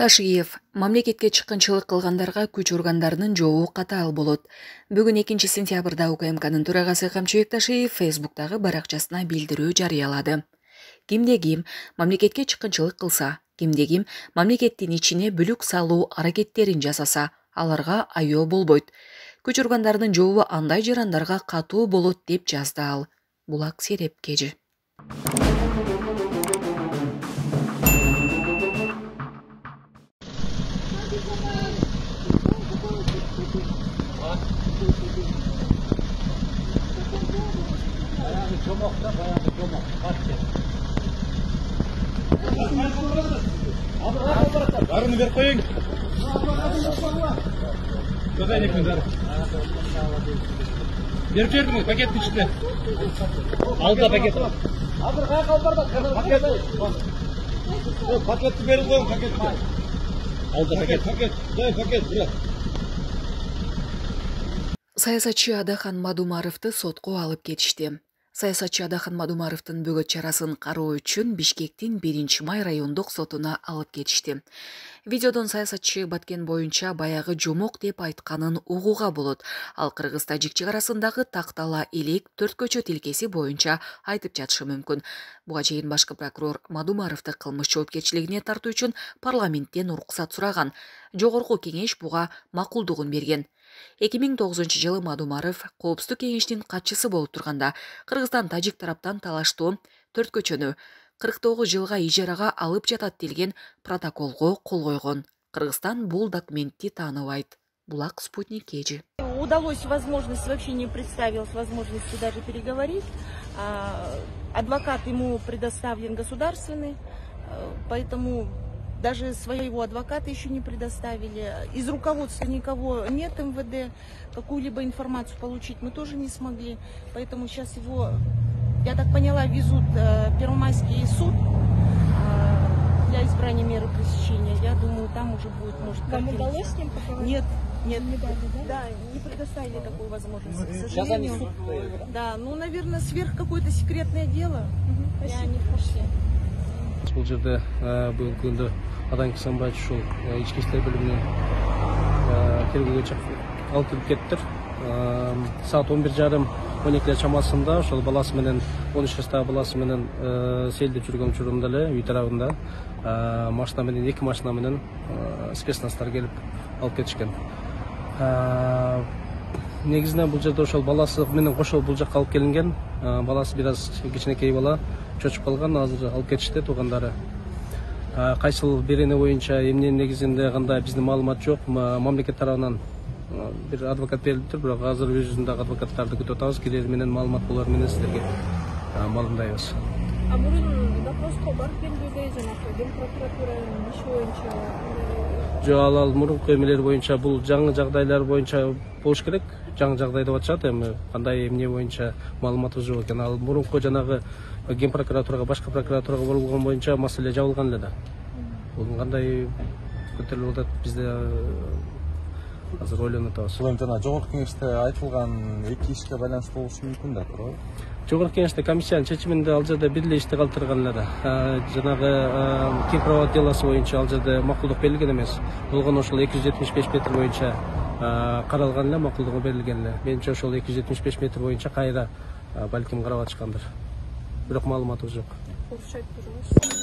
Ташиев мамлекетке чыккынчылык кылгандарга күч органдарынын жообу катаал болот. Бүгүн 2 сентябрда УКМКнын төрагасы Камчыбек Ташиев Фейсбуктагы баракчасына билдирүү жарыялады. Кимде-ким мамлекетке чыккынчылык кылса, кимде-ким мамлекеттин ичине бүлүк салуу аракеттерин жасаса, аларга айоо болбойт. Күч органдарынын жообу андай жарандарга катуу болот деп жазды ал. Булак Сереп Кежи. Barını ver koyun. Köpeylik mi zarı? Verip verdiniz paketin içinde. Aldı paket. Hazır kaya kalbarda paket. Paketli verin koyun paketli. Aldı paket. Paket. Саясатчы Адахан Мадумаровду сотко алып кетишти. Саясатчы Адахан Мадумаровдун бөгөт чарасын кароо үчүн Бишкектин 1-май райондук сотуна алып кетишти. Видеодон саясатчы Баткен боюнча баягы жомок деп айтканын угууга болот. Ал Кыргыз-Тажик чек арасындагы тактала элек 4 көчө тилкеси боюнча айтып жатышы мүмкүн. Буга чейин башкы прокурор Мадумаровду кылмыш жоопкерчилигине тартуу үчүн парламенттен уруксат сураган. Жогорку кеңеш буга макулдугун берген. 2009-жылы Мадумаров Коопсуздук кеңештин катчысы болуп турганда Кыргызстан Тажик тараптан талаштуу 4 көчөнү 49 жылга ижарага алып жатат делген протоколго кол койгон. Кыргызстан бул документти тааныбайт. Булак Спутник Кежи. Удалось возможность, вообще не представилась возможности даже переговорить. Адвокат ему предоставлен государственный, поэтому даже своего адвоката еще не предоставили. Из руководства никого нет МВД. Какую-либо информацию получить мы тоже не смогли. Поэтому сейчас его, я так поняла, везут в Первомайский суд для избрания меры пресечения. Я думаю, там уже будет, может, вам удалось с ним поговорить? Нет. Не дали, да? Да, не предоставили такую возможность, к сожалению. Да, ну, наверное, сверх какое-то секретное дело. Я не в курсе. Бул жерде бүгүнкү күндө Адан Кисанбаевич ушул ички иштер бөлүмүнө тергөөгө алып кирип кеттир. Саат 11:30-12 чамасында ошол баласы менен 13 жаштагы баласы менен сейилдеп жүргөн учурунда эле үй тарабында машина менен 2 машина менен спецназдар келип алып кетишкен. Негизинен бул жерде ошол баласы менен кошо бул жакка алып келинген. Баласы бир аз кичинекей бала чочуп калган, азыр алып кетишти туугандары. Кайсыл бирине боюнча эмненин негизинде кандай биздин маалымат жок. Мамлекет тарабынан бир адвокат берилиптир, бирок азыр өз жүзүндөгү адвокаттарды күтүп атабыз. Келер менен маалымат болор менен силерге маалымдайбыз. Мурун допроско барып келбейби, жанагы Ген прокуратуранын иши боюнча? Жок, ал мурунку эмелер боюнча бул жаңы жагдайлар боюнча болуш керек. Жаңы жагдай деп атышат, эми кандай эмне боюнча маалыматыбыз жок экен. Ал мурунку жанагы Ген прокуратурага, башка прокуратурага болгон боюнча маселе жабылган эле да. Бул кандай көтөрүлүп атат, бизде азыр ойлонуп атабыз. Бул эми жана жогорку кеңеште айтылган 2 ишке байланыштуу болушу мүмкүн да, туурабы? Жогорку кеңеште комиссиянын чечиминде ал жерде бир эле ишти калтырган эле да. Жанагы Кимпровод делосу боюнча ал жерде макулдук берилген эмес. Болгону ошол 275 метр боюнча каралган эле, макулдугу берилген эле. Менимче ошол 275 метр боюнча кайра балким карап атышкандыр. Бирок маалыматыбыз жок. Коопсуз айтып турбайсызбы?